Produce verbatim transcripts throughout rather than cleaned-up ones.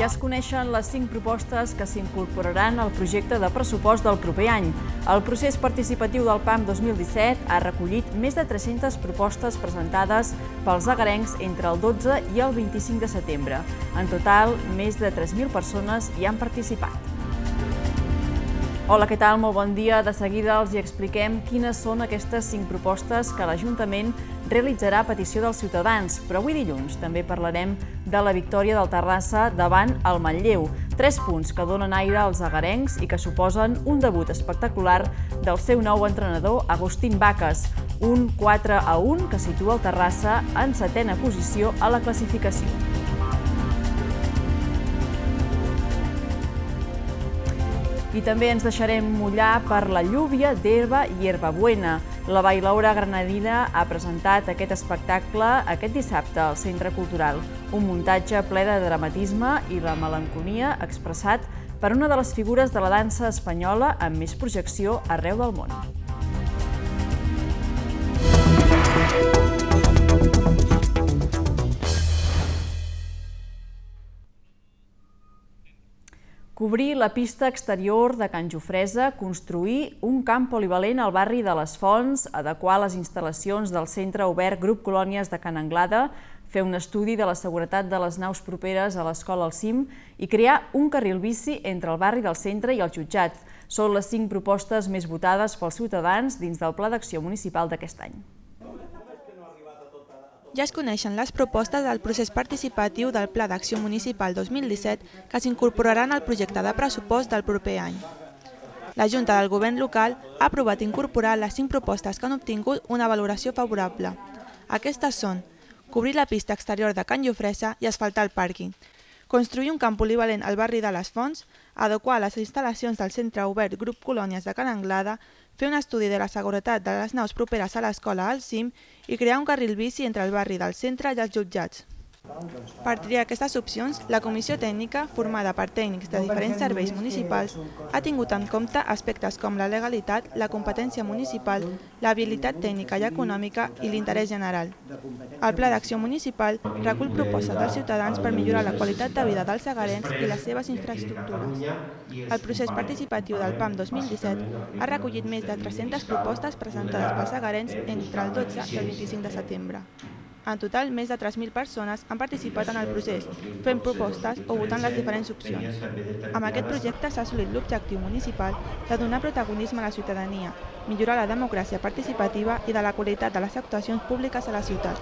Ja es coneixen les cinc propostes que s'incorporaran al projecte de pressupost del proper any. El procés participatiu del PAM dos mil disset ha recollit més de tres-centes propostes presentades pels agarencs entre el dotze i el vint-i-cinc de setembre. En total, més de tres mil persones hi han participat. Hola, què tal? Molt bon dia. De seguida els hi expliquem quines són aquestes cinc propostes que l'Ajuntament realitzarà a petició dels ciutadans, però avui dilluns també parlarem de la victòria del Terrassa davant el Manlleu. Tres punts que donen aire als agarencs i que suposen un debut espectacular del seu nou entrenador, Agustín Bacas. Un quatre a un que situa el Terrassa en setena posició a la classificació. I també ens deixarem mullar per la llúvia d'herba i herba buena. La bailaora granadina ha presentat aquest espectacle aquest dissabte al Centre Cultural. Un muntatge ple de dramatisme i la melancolia expressat per una de les figures de la dansa espanyola amb més projecció arreu del món. Cobrir la pista exterior de Can Jofresa, construir un camp polivalent al barri de les Fonts, adequar les instal·lacions del Centre Obert Grup Colònies de Can Anglada, fer un estudi de la seguretat de les naus properes a l'escola al cim i crear un carril bici entre el barri del centre i el jutjat. Són les cinc propostes més votades pels ciutadans dins del Pla d'Acció Municipal d'aquest any. Ja es coneixen les propostes del procés participatiu del Pla d'Acció Municipal dos mil disset que s'incorporaran al projecte de pressupost del proper any. La Junta del Govern local ha aprovat incorporar les cinc propostes que han obtingut una valoració favorable. Aquestes són cobrir la pista exterior de Can Jofresa i asfaltar el pàrquing, construir un camp polivalent al barri de les Fonts, adequar les instal·lacions del Centre Obert Grup Colònies de Can Anglada, fer un estudi de la seguretat de les naus properes a l'escola al cim i crear un carril bici entre el barri del centre i els jutjats. Per triar aquestes opcions, la comissió tècnica, formada per tècnics de diferents serveis municipals, ha tingut en compte aspectes com la legalitat, la competència municipal, la viabilitat tècnica i econòmica i l'interès general. El Pla d'Acció Municipal recull propostes dels ciutadans per millorar la qualitat de vida dels agarencs i les seves infraestructures. El procés participatiu del PAM dos mil disset ha recollit més de tres-centes propostes presentades pels agarencs entre el dotze i el vint-i-cinc de setembre. En total, més de tres mil persones han participat en el procés, fent propostes o votant les diferents opcions. Amb aquest projecte s'ha assolit l'objectiu municipal de donar protagonisme a la ciutadania, millorar la democràcia participativa i de la qualitat de les actuacions públiques a la ciutat.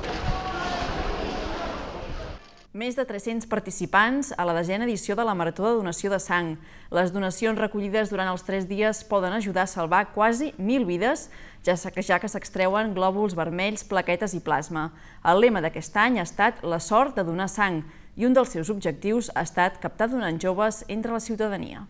Més de tres-cents participants a la desena edició de la Marató de Donació de Sang. Les donacions recollides durant els tres dies poden ajudar a salvar quasi mil vides, ja que s'extreuen glòbuls vermells, plaquetes i plasma. El lema d'aquest any ha estat la sort de donar sang i un dels seus objectius ha estat captar donants joves entre la ciutadania.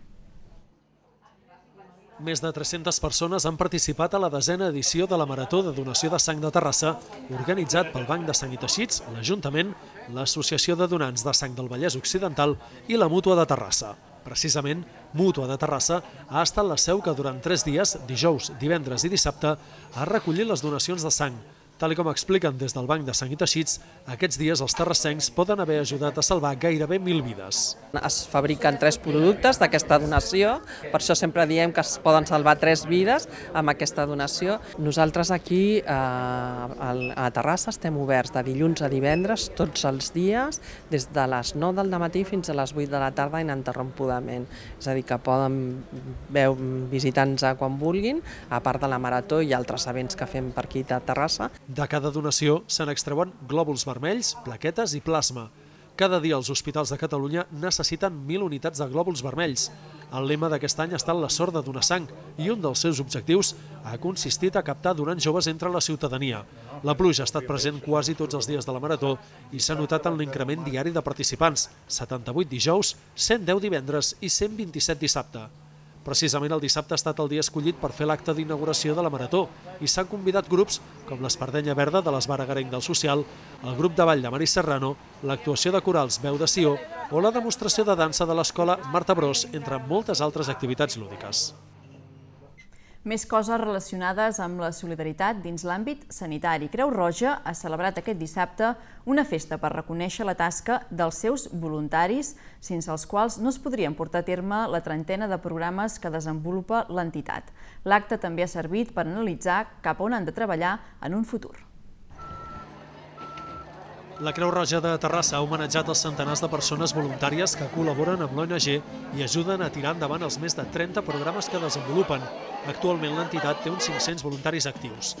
Més de tres-centes persones han participat a la desena edició de la Marató de Donació de Sang de Terrassa, organitzat pel Banc de Sang i Teixits, l'Ajuntament, l'Associació de Donants de Sang del Vallès Occidental i la Mútua de Terrassa. Precisament, Mútua de Terrassa ha estat la seu que durant tres dies, dijous, divendres i dissabte, ha recollit les donacions de sang. Tal com expliquen des del Banc de Sang i Teixits, aquests dies els terrassencs poden haver ajudat a salvar gairebé mil vides. Es fabriquen tres productes d'aquesta donació, per això sempre diem que es poden salvar tres vides amb aquesta donació. Nosaltres aquí a Terrassa estem oberts de dilluns a divendres tots els dies, des de les nou del matí fins a les vuit de la tarda ininterrompudament. És a dir, que poden visitar-nos quan vulguin, a part de la marató i altres events que fem per aquí a Terrassa. De cada donació se n'extreuen glòbuls vermells, plaquetes i plasma. Cada dia els hospitals de Catalunya necessiten mil unitats de glòbuls vermells. El lema d'aquest any ha estat la sort de donar sang i un dels seus objectius ha consistit a captar donants joves entre la ciutadania. La pluja ha estat present quasi tots els dies de la Marató i s'ha notat en l'increment diari de participants, setanta-vuit dijous, cent deu divendres i cent vint-i-set dissabte. Precisament el dissabte ha estat el dia escollit per fer l'acte d'inauguració de la Marató i s'han convidat grups com l'Espardenya Verda de l'Esbar Agarenc del Social, el grup de ball de Mari Serrano, l'actuació de corals Veu de Sió o la demostració de dansa de l'escola Marta Bros, entre moltes altres activitats lúdiques. Més coses relacionades amb la solidaritat dins l'àmbit sanitari. Creu Roja ha celebrat aquest dissabte una festa per reconèixer la tasca dels seus voluntaris, sense els quals no es podrien portar a terme la trentena de programes que desenvolupa l'entitat. L'acte també ha servit per analitzar cap on han de treballar en un futur. La Creu Roja de Terrassa ha homenatjat els centenars de persones voluntàries que col·laboren amb l'O N G i ajuden a tirar endavant els més de trenta programes que desenvolupen. Actualment l'entitat té uns cinc-cents voluntaris actius.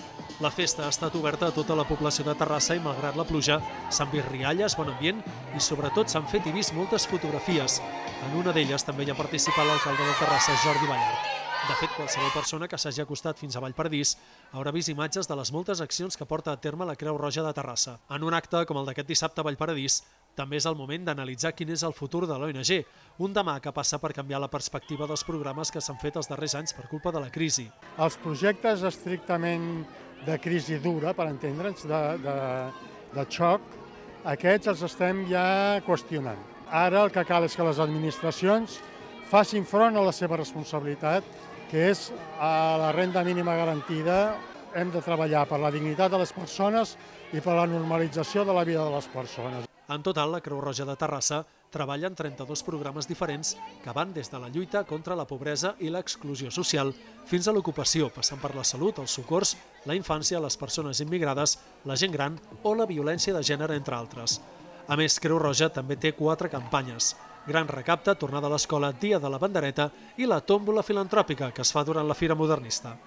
La festa ha estat oberta a tota la població de Terrassa i, malgrat la pluja, s'han vist rialles, bon ambient i, sobretot, s'han fet i vist moltes fotografies. En una d'elles també hi ha participat l'alcalde de Terrassa, Jordi Ballart. De fet, qualsevol persona que s'hagi acostat fins a Vallparadís haurà vist imatges de les moltes accions que porta a terme la Creu Roja de Terrassa. En un acte com el d'aquest dissabte a Vallparadís, també és el moment d'analitzar quin és el futur de l'O N G, un demà que passa per canviar la perspectiva dels programes que s'han fet els darrers anys per culpa de la crisi. Els projectes estrictament de crisi dura, per entendre'ns, de, de, de xoc, aquests els estem ja qüestionant. Ara el que cal és que les administracions facin front a la seva responsabilitat, que és a la renda mínima garantida. Hem de treballar per la dignitat de les persones i per la normalització de la vida de les persones. En total, la Creu Roja de Terrassa treballa en trenta-dos programes diferents que van des de la lluita contra la pobresa i l'exclusió social fins a l'ocupació, passant per la salut, els socors, la infància, les persones immigrades, la gent gran o la violència de gènere, entre altres. A més, Creu Roja també té quatre campanyes: Gran Recapte, Tornada a l'Escola, Dia de la Bandereta i la Tòmbola Filantròpica, que es fa durant la Fira Modernista.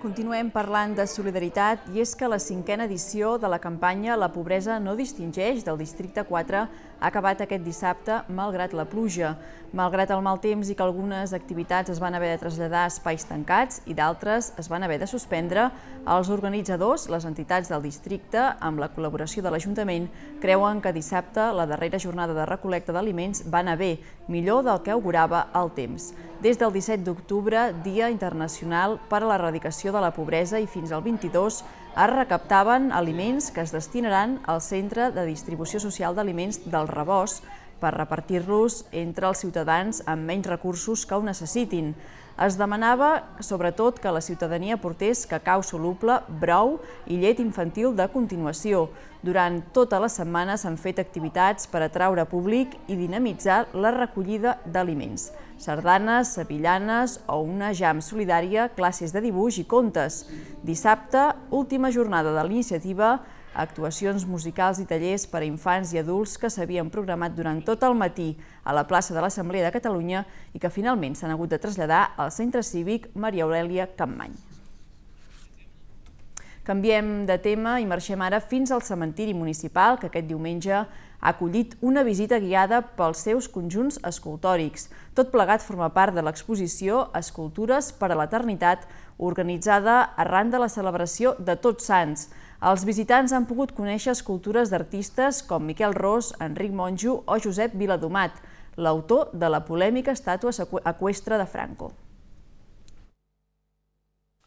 Continuem parlant de solidaritat i és que la cinquena edició de la campanya La pobresa no distingeix del districte quatre ha acabat aquest dissabte malgrat la pluja. Malgrat el mal temps i que algunes activitats es van haver de traslladar a espais tancats i d'altres es van haver de suspendre, els organitzadors, les entitats del districte, amb la col·laboració de l'Ajuntament, creuen que dissabte la darrera jornada de recol·lecta d'aliments va anar bé, millor del que augurava el temps. Des del disset d'octubre, Dia Internacional per a l'Erradicació de la Pobresa, i fins al vint-i-dos es recaptaven aliments que es destinaran al Centre de Distribució Social d'Aliments del Rebost per repartir-los entre els ciutadans amb menys recursos que ho necessitin. Es demanava, sobretot, que la ciutadania portés cacau soluble, brou i llet infantil de continuació. Durant tota la setmana s'han fet activitats per atraure públic i dinamitzar la recollida d'aliments. Sardanes, sevillanes o una jam solidària, classes de dibuix i contes. Dissabte, última jornada de l'iniciativa, actuacions musicals i tallers per a infants i adults que s'havien programat durant tot el matí a la plaça de l'Assemblea de Catalunya i que finalment s'han hagut de traslladar al Centre Cívic Maria Aurèlia Campmany. Canviem de tema i marxem ara fins al cementiri municipal, que aquest diumenge ha acollit una visita guiada pels seus conjunts escultòrics. Tot plegat forma part de l'exposició Escultures per a l'Eternitat, organitzada arran de la celebració de Tots Sants. Els visitants han pogut conèixer escultures d'artistes com Miquel Ros, Enric Monjo o Josep Viladomat, l'autor de la polèmica estàtua eqüestre de Franco.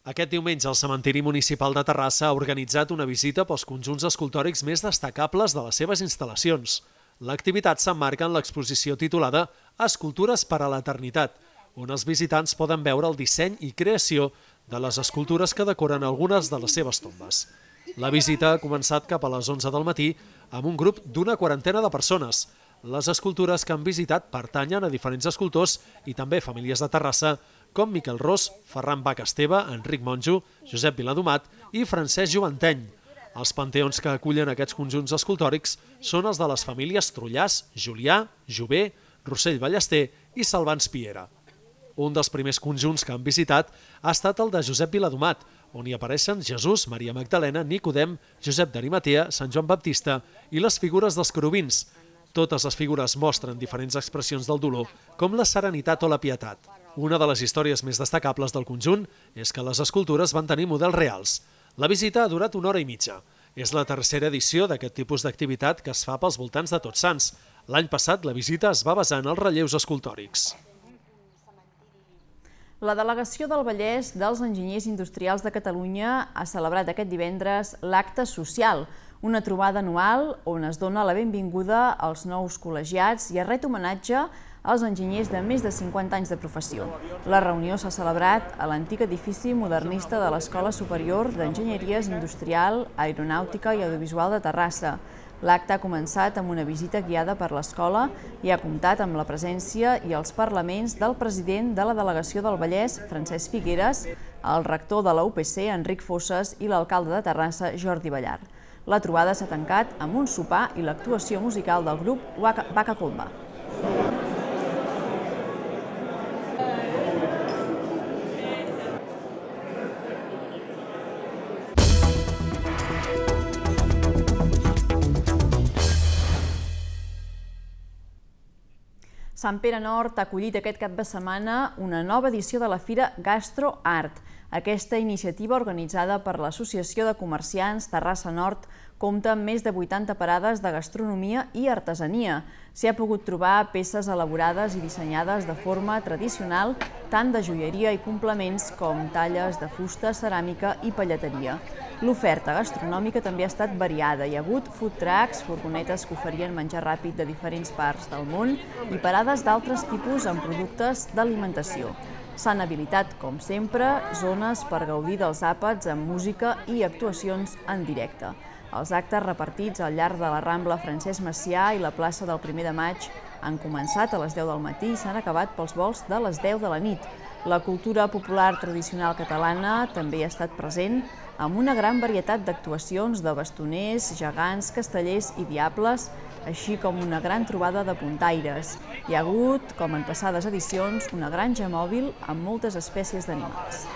Aquest diumenge el cementiri municipal de Terrassa ha organitzat una visita pels conjunts escultòrics més destacables de les seves instal·lacions. L'activitat s'emmarca en l'exposició titulada Escultures per a l'Eternitat, on els visitants poden veure el disseny i creació de les escultures que decoren algunes de les seves tombes. La visita ha començat cap a les onze del matí amb un grup d'una quarantena de persones. Les escultures que han visitat pertanyen a diferents escultors i també famílies de Terrassa, com Miquel Ros, Ferran Bach Esteve, Enric Monjo, Josep Viladomat i Francesc Joventeny. Els panteons que acullen aquests conjunts escultòrics són els de les famílies Trullàs, Julià, Jové, Rossell Ballester i Salvans Piera. Un dels primers conjunts que han visitat ha estat el de Josep Viladomat, on hi apareixen Jesús, Maria Magdalena, Nicodem, Josep d'Arimatea, Sant Joan Baptista i les figures dels querubins. Totes les figures mostren diferents expressions del dolor, com la serenitat o la pietat. Una de les històries més destacables del conjunt és que les escultures van tenir models reals. La visita ha durat una hora i mitja. És la tercera edició d'aquest tipus d'activitat que es fa pels voltants de Tots Sants. L'any passat la visita es va basar en els relleus escultòrics. La delegació del Vallès dels Enginyers Industrials de Catalunya ha celebrat aquest divendres l'acte social, una trobada anual on es dona la benvinguda als nous col·legiats i es ret homenatge als enginyers de més de cinquanta anys de professió. La reunió s'ha celebrat a l'antic edifici modernista de l'Escola Superior d'Enginyeries Industrial, Aeronàutica i Audiovisual de Terrassa. L'acte ha començat amb una visita guiada per l'escola i ha comptat amb la presència i els parlaments del president de la Delegació del Vallès, Francesc Figueres, el rector de la U P C, Enric Fosses, i l'alcalde de Terrassa, Jordi Ballar. La trobada s'ha tancat amb un sopar i l'actuació musical del grup Waka Comba. Sant Pere Nord ha acollit aquest cap de setmana una nova edició de la Fira Gastro Art. Aquesta iniciativa, organitzada per l'Associació de Comerciants Terrassa Nord, compta amb més de vuitanta parades de gastronomia i artesania. S'hi ha pogut trobar peces elaborades i dissenyades de forma tradicional, tant de joieria i complements com talles de fusta, ceràmica i pelleteria. L'oferta gastronòmica també ha estat variada. Hi ha hagut food trucks, furgonetes que oferien menjar ràpid de diferents parts del món i parades d'altres tipus amb productes d'alimentació. S'han habilitat, com sempre, zones per gaudir dels àpats amb música i actuacions en directe. Els actes repartits al llarg de la Rambla Francesc Macià i la plaça del primer de maig han començat a les deu del matí i s'han acabat pels volts de les deu de la nit. La cultura popular tradicional catalana també ha estat present amb una gran varietat d'actuacions de bastoners, gegants, castellers i diables, així com una gran trobada de puntaires. Hi ha hagut, com en passades edicions, una granja mòbil amb moltes espècies d'animals.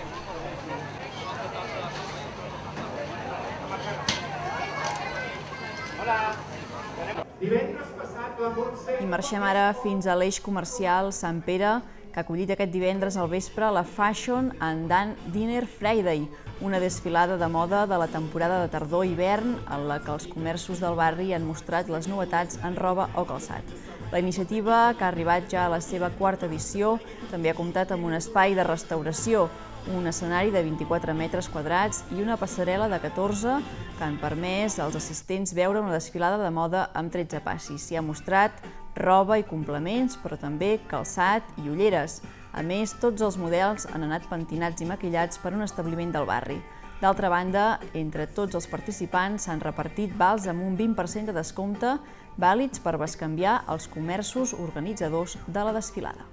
I marxem ara fins a l'eix comercial Sant Pere, que ha acollit aquest divendres al vespre la Fashion and Dinner Friday, una desfilada de moda de la temporada de tardor-hivern en la que els comerços del barri han mostrat les novetats en roba o calçat. La iniciativa, que ha arribat ja a la seva quarta edició, també ha comptat amb un espai de restauració, un escenari de vint-i-quatre metres quadrats i una passarel·la de catorze que han permès als assistents veure una desfilada de moda amb tretze passis. S'hi ha mostrat roba i complements, però també calçat i ulleres. A més, tots els models han anat pentinats i maquillats per un establiment del barri. D'altra banda, entre tots els participants s'han repartit vals amb un vint per cent de descompte, vàlids per bescanviar els comerços organitzadors de la desfilada.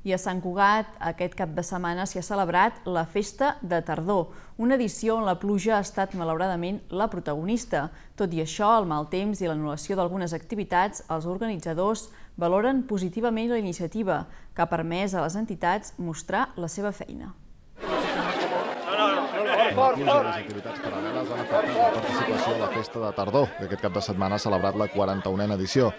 I a Sant Cugat, aquest cap de setmana s'hi ha celebrat la Festa de Tardor, una edició on la pluja ha estat malauradament la protagonista. Tot i això, el mal temps i l'anul·lació d'algunes activitats, els organitzadors valoren positivament la iniciativa, que ha permès a les entitats mostrar la seva feina. Els motius i les activitats paral·leles han afectat la participació a la Festa de Tardor, que aquest cap de setmana ha celebrat la quaranta-unena edició.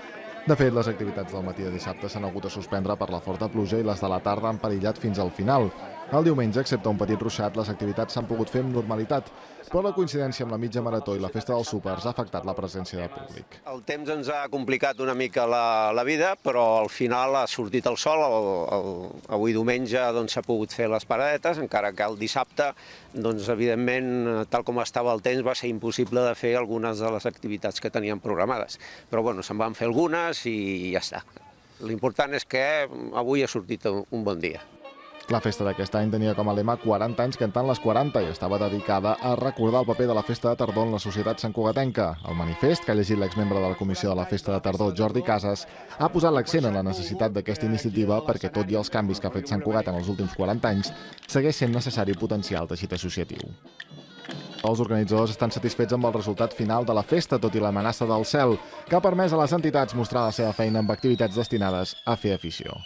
De fet, les activitats del matí de dissabte s'han hagut de suspendre per la forta pluja i les de la tarda han perillat fins al final. El diumenge, excepte un petit ruixat, les activitats s'han pogut fer amb normalitat, però la coincidència amb la mitja marató i la festa dels súpers ha afectat la presència de públic. El temps ens ha complicat una mica la, la vida, però al final ha sortit el sol. El, el, avui diumenge s'ha pogut fer les paradetes, encara que el dissabte, doncs, evidentment, tal com estava el temps, va ser impossible de fer algunes de les activitats que teníem programades. Però bueno, se'n van fer algunes i ja està. L'important és que avui ha sortit un bon dia. La festa d'aquest any tenia com a lema quaranta anys cantant les quaranta i estava dedicada a recordar el paper de la Festa de Tardor en la societat santcugatenca. El manifest, que ha llegit l'exmembre de la Comissió de la Festa de Tardor, Jordi Casas, ha posat l'accent en la necessitat d'aquesta iniciativa perquè, tot i els canvis que ha fet Sant Cugat en els últims quaranta anys, segueix sent necessari potenciar el teixit associatiu. Els organitzadors estan satisfets amb el resultat final de la festa, tot i l'amenaça del cel, que ha permès a les entitats mostrar la seva feina amb activitats destinades a fer afició.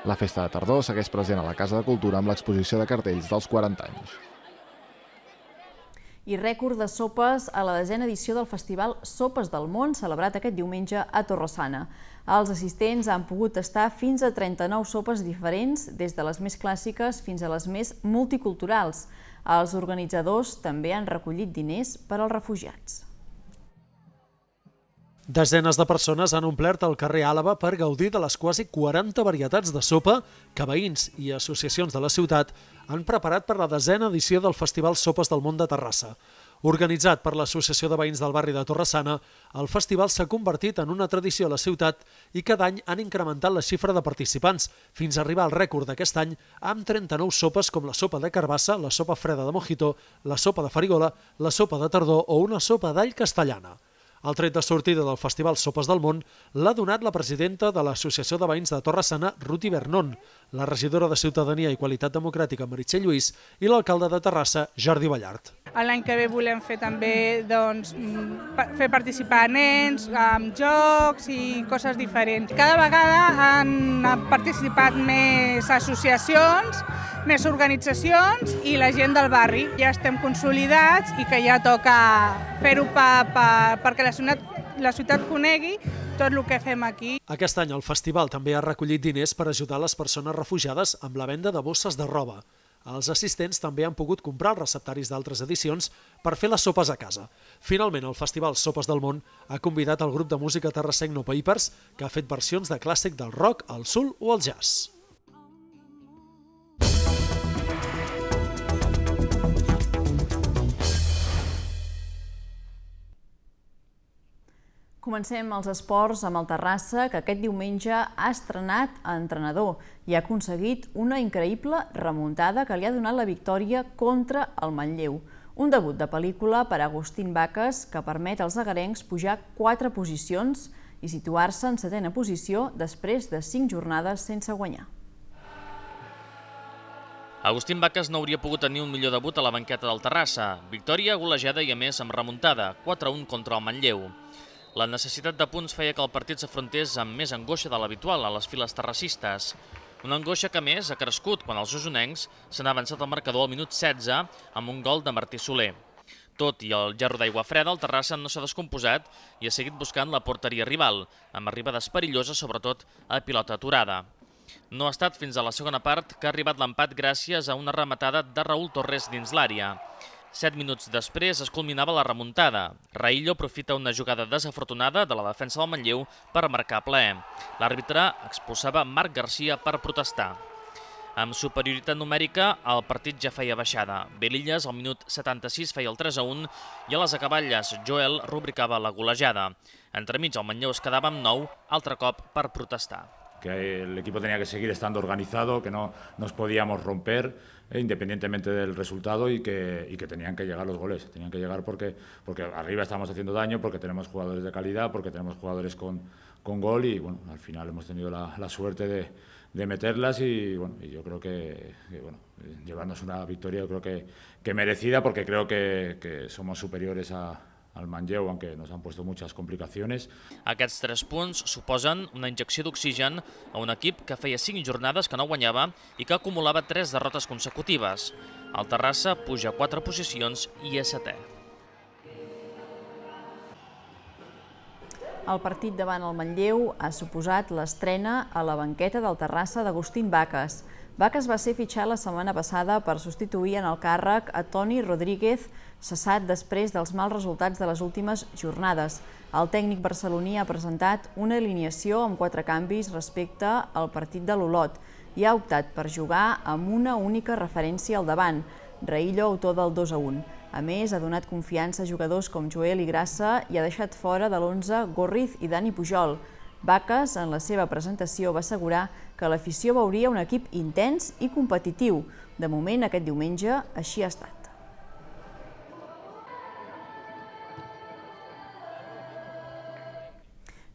La Festa de Tardor segueix present a la Casa de Cultura amb l'exposició de cartells dels quaranta anys. I rècord de sopes a la desena edició del Festival Sopes del Món, celebrat aquest diumenge a Torre-sana. Els assistents han pogut tastar fins a trenta-nou sopes diferents, des de les més clàssiques fins a les més multiculturals. Els organitzadors també han recollit diners per als refugiats. Desenes de persones han omplert el carrer Àlaba per gaudir de les quasi quaranta varietats de sopa que veïns i associacions de la ciutat han preparat per la desena edició del Festival Sopes del Món de Terrassa. Organitzat per l'Associació de Veïns del Barri de Torre-sana, el festival s'ha convertit en una tradició a la ciutat i cada any han incrementat la xifra de participants, fins a arribar al rècord d'aquest any amb trenta-nou sopes com la sopa de carbassa, la sopa freda de mojito, la sopa de farigola, la sopa de tardor o una sopa d'all castellana. El tret de sortida del Festival Sopes del Món l'ha donat la presidenta de l'Associació de Veïns de Torre-sana, Ruti Bernon, la regidora de Ciutadania i Qualitat Democràtica, Meritxell Lluís, i l'alcalde de Terrassa, Jordi Ballart. L'any que ve volem fer també doncs, fer participar nens amb jocs i coses diferents. Cada vegada han participat més associacions, més organitzacions i la gent del barri. Ja estem consolidats i que ja toca fer-ho perquè la ciutat, la ciutat conegui tot el que fem aquí. Aquest any el festival també ha recollit diners per ajudar les persones refugiades amb la venda de bosses de roba. Els assistents també han pogut comprar els receptaris d'altres edicions per fer les sopes a casa. Finalment, el Festival Sopes del Món ha convidat el grup de música terrassenc No Papers, que ha fet versions de clàssic del rock, el soul o el jazz. Comencem els esports amb el Terrassa, que aquest diumenge ha estrenat a entrenador i ha aconseguit una increïble remuntada que li ha donat la victòria contra el Manlleu. Un debut de pel·lícula per a Agustín Baques que permet als agarencs pujar quatre posicions i situar-se en setena posició després de cinc jornades sense guanyar. Agustín Baques no hauria pogut tenir un millor debut a la banqueta del Terrassa. Victòria golejada i a més amb remuntada, quatre a un contra el Manlleu. La necessitat de punts feia que el partit s'afrontés amb més angoixa de l'habitual a les files terrassistes. Una angoixa que, més, ha crescut quan els osonencs s'han avançat al marcador al minut setze amb un gol de Martí Soler. Tot i el gerro d'aigua freda, el Terrassa no s'ha descomposat i ha seguit buscant la porteria rival, amb arribades perilloses, sobretot a pilota aturada. No ha estat fins a la segona part que ha arribat l'empat gràcies a una rematada de Raúl Torres dins l'àrea. Set minuts després es culminava la remuntada. Raillo aprofita una jugada desafortunada de la defensa del Manlleu per marcar ple. L'àrbitre expulsava Marc Garcia per protestar. Amb superioritat numèrica, el partit ja feia baixada. Belillas, al minut setanta-sis, feia el tres a un i a les acaballes Joel rubricava la golejada. Entremig, el Manlleu es quedava amb nou, altre cop per protestar. Que el equipo tenía que seguir estando organizado, que no nos podíamos romper eh, independientemente del resultado y que, y que tenían que llegar los goles. Tenían que llegar porque, porque arriba estamos haciendo daño, porque tenemos jugadores de calidad, porque tenemos jugadores con, con gol y bueno, al final hemos tenido la, la suerte de, de meterlas y, bueno, y yo creo que, que bueno, llevarnos una victoria yo creo que, que merecida porque creo que, que somos superiores a al Manlleu, aunque nos han puesto muchas complicaciones. Aquests tres punts suposen una injecció d'oxigen a un equip que feia cinc jornades que no guanyava i que acumulava tres derrotes consecutives. El Terrassa puja quatre posicions i és setè. El partit davant el Manlleu ha suposat l'estrena a la banqueta del Terrassa d'Agustín Baques. Baques va ser fitxat la setmana passada per substituir en el càrrec a Toni Rodríguez, cessat després dels mals resultats de les últimes jornades. El tècnic barceloní ha presentat una alineació amb quatre canvis respecte al partit de l'Olot i ha optat per jugar amb una única referència al davant, Raillo, autor del dos a un. A més, ha donat confiança a jugadors com Joel i Grassa i ha deixat fora de l'onze Gorriz i Dani Pujol. Baques, en la seva presentació, va assegurar que l'afició veuria un equip intens i competitiu. De moment, aquest diumenge, així ha estat.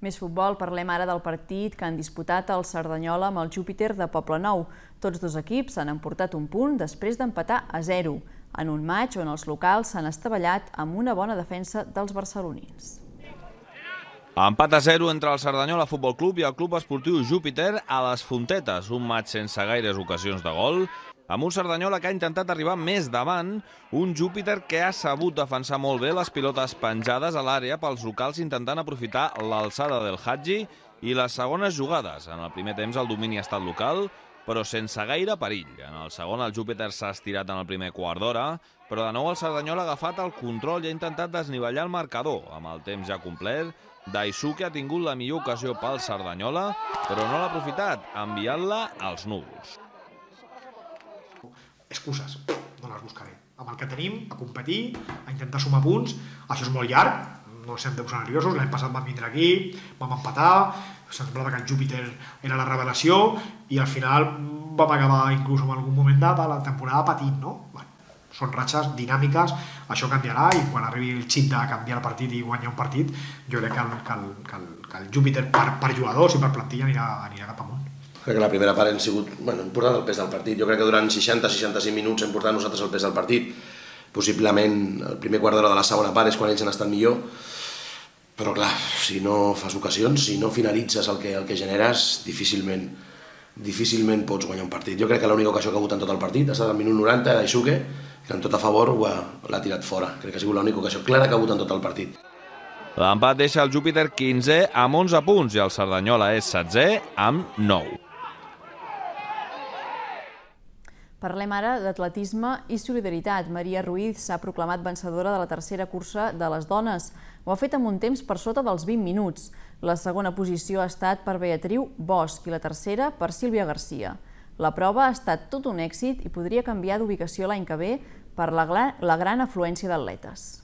Més futbol, parlem ara del partit que han disputat el Cerdanyola amb el Júpiter de Poblenou. Tots dos equips han emportat un punt després d'empatar a zero, en un matx on els locals s'han estavellat amb una bona defensa dels barcelonins. Empat a zero entre el Cerdanyola Futbol Club i el Club Esportiu Júpiter a les Fontetes, un matx sense gaires ocasions de gol, amb un Cerdanyola que ha intentat arribar més davant, un Júpiter que ha sabut defensar molt bé les pilotes penjades a l'àrea pels locals intentant aprofitar l'alçada del Hadji i les segones jugades. En el primer temps el domini ha estat local, però sense gaire perill. En el segon el Júpiter s'ha estirat en el primer quart d'hora, però de nou el Cerdanyola ha agafat el control i ha intentat desnivellar el marcador. Amb el temps ja complet, Daisuke ha tingut la millor ocasió pel Cerdanyola, però no l'ha aprofitat, enviant-la als núvols. Excuses, no les buscaré. amb el que tenim, a competir, a intentar sumar punts. Això és molt llarg, no ens hem de posar nerviosos, l'any passat vam vindre aquí, vam empatar, semblava que el Júpiter era la revelació i al final vam acabar inclús en algun moment de la temporada patint, no? Bueno, són ratxes dinàmiques, això canviarà i quan arribi el xip de canviar el partit i guanyar un partit, jo crec que el, que el, que el, que el Júpiter per, per jugadors i per plantilla anirà, anirà cap amunt. Crec que la primera part hem sigut bueno, important el pes del partit. Jo crec que durant seixanta a seixanta-cinc minuts hem portat nosaltres el pes del partit. Possiblement el primer quart d'hora de la segona part és quan ells han estat millor. Però clar, si no fas ocasions, si no finalitzes el que, el que generes, difícilment, difícilment pots guanyar un partit. Jo crec que l'única ocasió que ha hagut en tot el partit ha estat al minut noranta d'Aixuque, que en tot a favor l'ha tirat fora. Crec que ha sigut l'única ocasió clara que ha hagut en tot el partit. L'empat deixa el Júpiter quinzè amb onze punts i el Cerdanyola és setzè amb nou. Parlem ara d'atletisme i solidaritat. Maria Ruiz s'ha proclamat vencedora de la tercera cursa de les dones. Ho ha fet amb un temps per sota dels vint minuts. La segona posició ha estat per Beatriu Bosch i la tercera per Sílvia Garcia. La prova ha estat tot un èxit i podria canviar d'ubicació l'any que ve per la gran afluència d'atletes.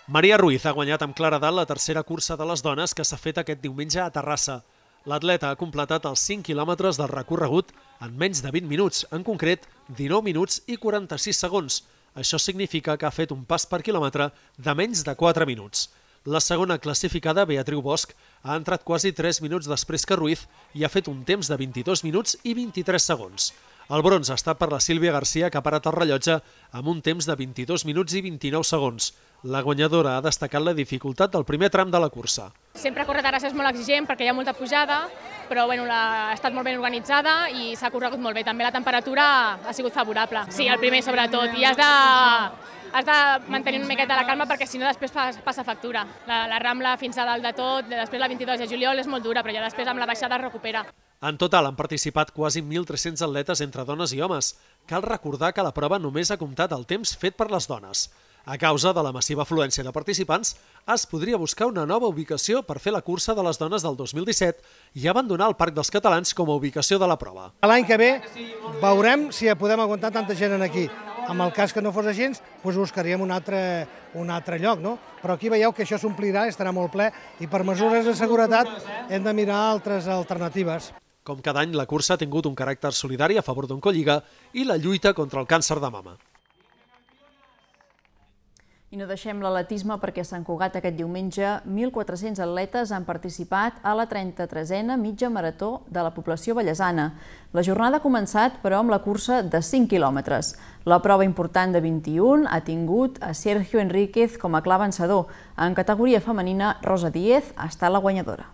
Maria Ruiz ha guanyat amb claredat la tercera cursa de les dones que s'ha fet aquest diumenge a Terrassa. L'atleta ha completat els cinc quilòmetres del recorregut en menys de vint minuts, en concret dinou minuts i quaranta-sis segons. Això significa que ha fet un pas per quilòmetre de menys de quatre minuts. La segona classificada, Beatriu Bosch, ha entrat quasi tres minuts després que Ruiz i ha fet un temps de vint-i-dos minuts i vint-i-tres segons. El bronze ha estat per la Sílvia Garcia, que ha parat el rellotge amb un temps de vint-i-dos minuts i vint-i-nou segons. La guanyadora ha destacat la dificultat del primer tram de la cursa. Sempre córrer a Terrassa és molt exigent perquè hi ha molta pujada, però bueno, la, ha estat molt ben organitzada i s'ha corregut molt bé. També la temperatura ha sigut favorable. Sí, el primer sobretot. I has de, has de mantenir una miqueta la calma perquè si no després passa factura. La, la Rambla fins a dalt de tot, després la vint-i-dos de juliol és molt dura, però ja després amb la baixada es recupera. En total han participat quasi mil tres-cents atletes entre dones i homes. Cal recordar que la prova només ha comptat el temps fet per les dones. A causa de la massiva afluència de participants, es podria buscar una nova ubicació per fer la cursa de les dones del dos mil disset i abandonar el Parc dels Catalans com a ubicació de la prova. L'any que ve veurem si podem aguantar tanta gent aquí. En el cas que no fos així, doncs buscaríem un altre, un altre lloc, no? Però aquí veieu que això s'omplirà, estarà molt ple, i per mesures de seguretat hem de mirar altres alternatives. Com cada any, la cursa ha tingut un caràcter solidari a favor d'Oncolliga i la lluita contra el càncer de mama. I no deixem l'atletisme perquè a Sant Cugat aquest diumenge mil quatre-cents atletes han participat a la trenta-tresena mitja marató de la població vallesana. La jornada ha començat, però, amb la cursa de cinc quilòmetres. La prova important de vint-i-un ha tingut a Sergio Enríquez com a clar vencedor. En categoria femenina, Rosa Díez ha estat la guanyadora.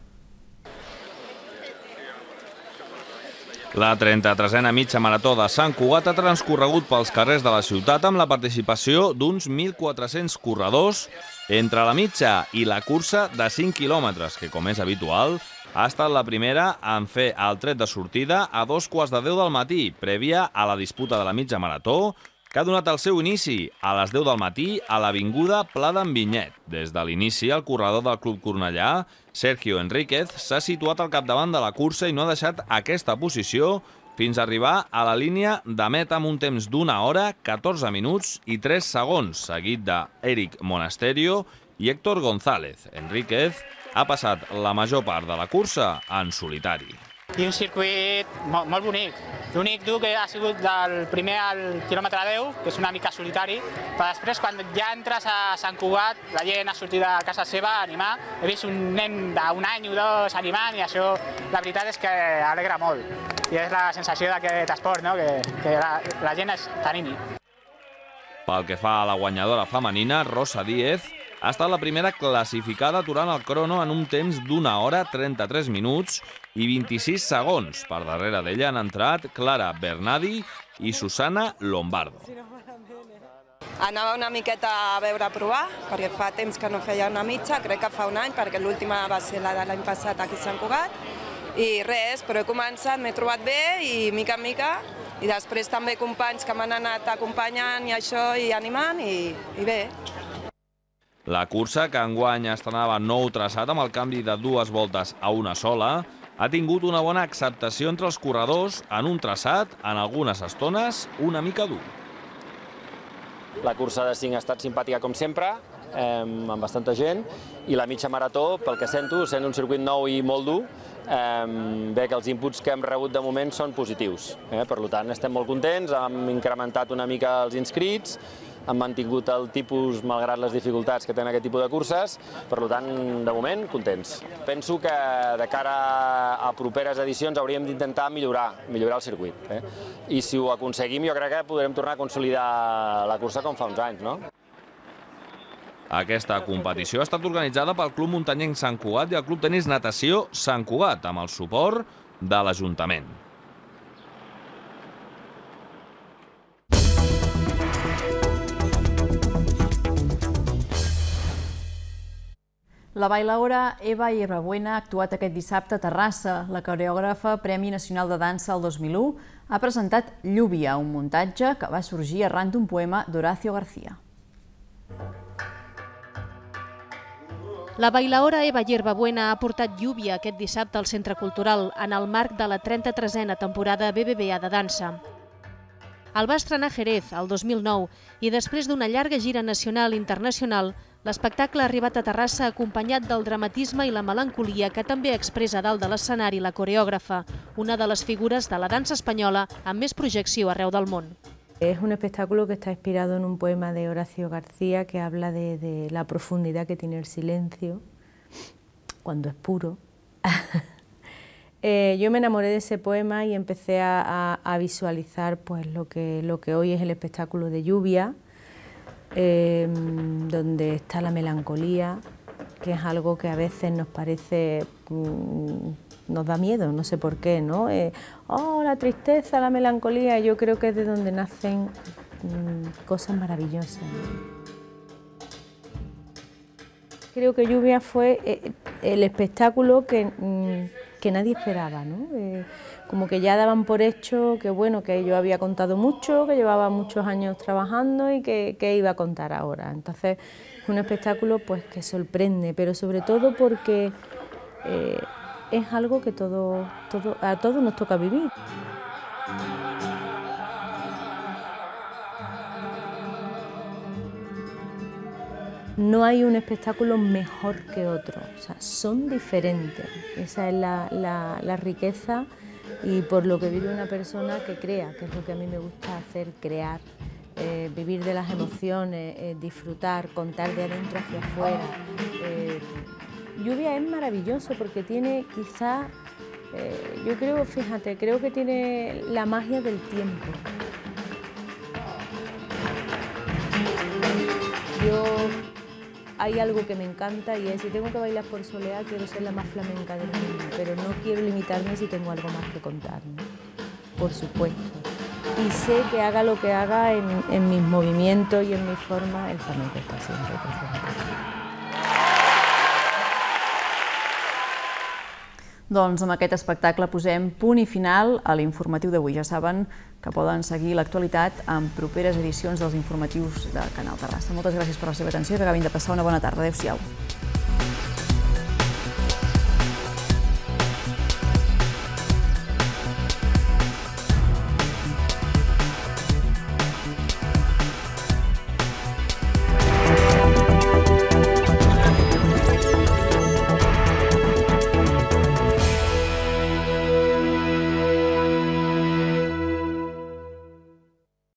La trenta-tresena mitja marató de Sant Cugat ha transcorregut pels carrers de la ciutat amb la participació d'uns mil quatre-cents corredors entre la mitja i la cursa de cinc quilòmetres, que, com és habitual, ha estat la primera en fer el tret de sortida a dos quarts de deu del matí, prèvia a la disputa de la mitja marató, que ha donat el seu inici a les deu del matí a l'avinguda Pla d'en Vinyet. Des de l'inici, el corredor del Club Cornellà, Sergio Enríquez, s'ha situat al capdavant de la cursa i no ha deixat aquesta posició fins a arribar a la línia de meta amb un temps d'una hora, catorze minuts i tres segons, seguit d'Eric Monasterio i Héctor González. Enríquez ha passat la major part de la cursa en solitari. I un circuit molt, molt bonic. L'únic dur que ha sigut del primer al quilòmetre deu, que és una mica solitari, però després, quan ja entres a Sant Cugat, la gent ha sortit de casa seva a animar. He vist un nen d'un any o dos animant i això, la veritat és que alegra molt. I és la sensació d'aquest esport, no? que, que la, la gent t'animi. Pel que fa a la guanyadora femenina, Rosa Díez, ha estat la primera classificada aturant el crono en un temps d'una hora, trenta-tres minuts i vint-i-sis segons. Per darrere d'ella han entrat Clara Bernadi i Susana Lombardo. Anava una miqueta a veure a provar, perquè fa temps que no feia una mitja, crec que fa un any, perquè l'última va ser la de l'any passat aquí a Sant Cugat. I res, però he començat, m'he trobat bé i mica en mica, i després també companys que m'han anat acompanyant i això, i animant, i, i bé. La cursa, que enguany estrenava nou traçat amb el canvi de dues voltes a una sola, ha tingut una bona acceptació entre els corredors en un traçat, en algunes estones, una mica dur. La cursa de cinc ha estat simpàtica com sempre, amb bastanta gent, i la mitja marató, pel que sento, sent un circuit nou i molt dur, bé que els inputs que hem rebut de moment són positius. Per tant, estem molt contents, hem incrementat una mica els inscrits, han mantingut el tipus malgrat les dificultats que tenen aquest tipus de curses, per tant, de moment, contents. Penso que de cara a properes edicions hauríem d'intentar millorar, millorar el circuit. I si ho aconseguim, jo crec que podrem tornar a consolidar la cursa com fa uns anys, no? Aquesta competició ha estat organitzada pel Club Muntanyenc Sant Cugat i el Club Tenis Natació Sant Cugat, amb el suport de l'Ajuntament. La bailaora Eva Hierbabuena ha actuat aquest dissabte a Terrassa. La coreògrafa Premi Nacional de Dansa el dos mil u ha presentat Lluvia, un muntatge que va sorgir arran d'un poema d'Horacio García. La bailaora Eva Hierbabuena ha portat Lluvia aquest dissabte al Centre Cultural en el marc de la trenta-tresena temporada B B V A de dansa. El va estrenar a Jerez el dos mil nou i després d'una llarga gira nacional i internacional, l'espectacle ha arribat a Terrassa acompanyat del dramatisme i la melancolia que també expressa dalt de l'escenari la coreògrafa, una de les figures de la dansa espanyola amb més projecció arreu del món. Es un espectáculo que está inspirado en un poema de Horacio García que habla de, de la profundidad que tiene el silencio cuando es puro. eh, yo me enamoré de ese poema y empecé a, a, a visualizar pues, lo, que, lo que hoy es el espectáculo de Lluvia, eh, donde está la melancolía, que es algo que a veces nos parece... Mmm, nos da miedo, no sé por qué, ¿no? Eh, oh, la tristeza, la melancolía, yo creo que es de donde nacen mmm, cosas maravillosas, ¿no? Creo que Lluvia fue eh, el espectáculo que, mmm, que nadie esperaba, ¿no? Eh, como que ya daban por hecho que, bueno, que yo había contado mucho, que llevaba muchos años trabajando y que, que iba a contar ahora. Entonces, es un espectáculo pues, que sorprende, pero sobre todo porque... Eh, es algo que todo, todo, a todos nos toca vivir. No hay un espectáculo mejor que otro, o sea, son diferentes. Esa es la, la, la riqueza y por lo que vive una persona que crea, que es lo que a mí me gusta hacer, crear, eh, vivir de las emociones, eh, disfrutar, contar de adentro hacia afuera. Eh, Lluvia es maravilloso porque tiene quizá, eh, yo creo, fíjate, creo que tiene la magia del tiempo. Yo, hay algo que me encanta y es, si tengo que bailar por soleá, quiero ser la más flamenca del mundo, pero no quiero limitarme si tengo algo más que contar, ¿no? Por supuesto. Y sé que haga lo que haga en, en mis movimientos y en mi forma, el flamenco está siempre presente. Doncs amb aquest espectacle posem punt i final a l'informatiu d'avui. Ja saben que poden seguir l'actualitat en properes edicions dels informatius del Canal Terrassa. Moltes gràcies per la seva atenció i que acabin de passar una bona tarda. Adéu-siau.